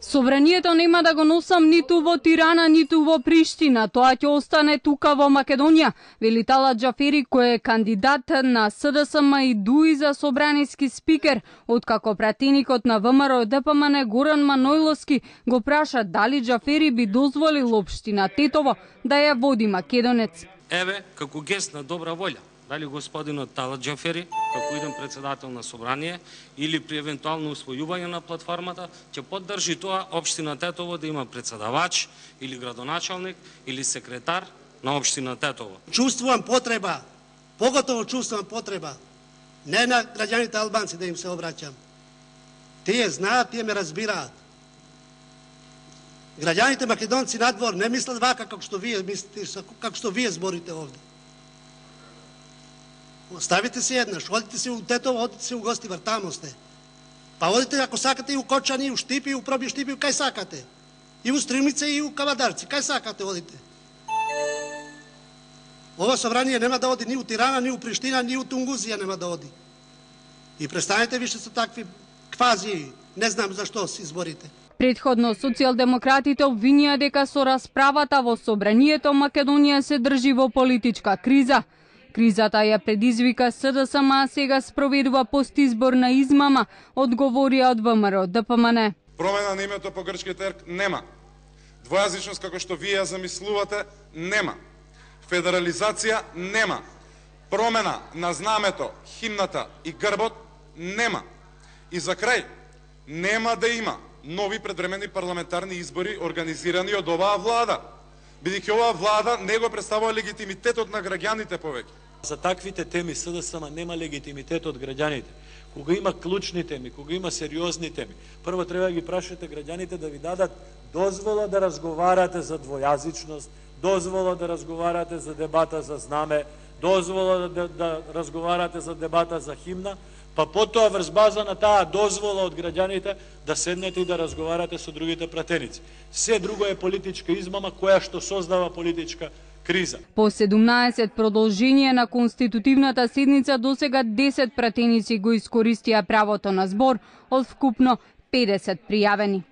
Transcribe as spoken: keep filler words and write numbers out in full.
Собранието нема да го носам ниту во Тирана, ниту во Приштина. Тоа ќе остане тука во Македонија, вели Талат Џафери, кој е кандидат на СДСМ и ДУИ за собраниски спикер, откако пратеникот на ВМРО Д П М Н Горан Манојловски го праша дали Џафери би дозволил општина Тетово да ја води македонец. Еве, како гест на добра волја, дали господинот Талат Џафери, како иден председател на собрание, или при евентуално усвојување на платформата, ќе поддржи тоа општина Тетово да има председавач, или градоначалник, или секретар на општина Тетово. Чувствувам потреба, поготово чувствувам потреба, не на граѓаните албанци да им се обраќам. Тие знаат, тие ме разбираат. Граѓаните македонци надвор не мислат вака како што вие мислите, како што вие зборите овде. Оставите се еднаш, одите се у Тетово, одите се у Гостивар, тамо сте. Па одите ако сакате и у Кочани, и у Штипи, и у Проби Штипи, кај сакате. И у Стримица, и у Кавадарци, кај сакате одите. Ова собрание нема да оди ни у Тирана, ни у Приштина, ни у Тунгузија нема да оди. И престанете више со такви квази, не знам зашто се изборите. Предходно социјалдемократите обвинија дека со расправата во собранието Македонија се држи во политичка криза. Кризата ја предизвика СДСМ, а сега спроведува постизборна измама, одговорија од ВМРО Д П М Н. Промена на името по грчки терк нема. Двојазичност како што вие ја замислувате нема. Федерализација нема. Промена на знамето, химната и грбот нема. И за крај, нема да има нови предвремени парламентарни избори организирани од оваа влада, бидејќи оваа влада не го представува легитимитетот на граѓаните повеќе. За таквите теми СДСМ нема легитимитет од граѓаните. Кога има клучни теми, кога има сериозни теми, прво треба да ги прашате граѓаните да ви дадат дозвола да разговарате за двојазичност, дозвола да разговарате за дебата за знаме, дозвола да, да разговарате за дебата за химна, па потоа врз база на таа дозвола од граѓаните да седнете и да разговарате со другите пратеници. Се друго е политичка измама која што создава политичка криза. По седумнаесет продолжение на конститутивната седница досега десет пратеници го искористија правото на збор од вкупно педесет пријавени.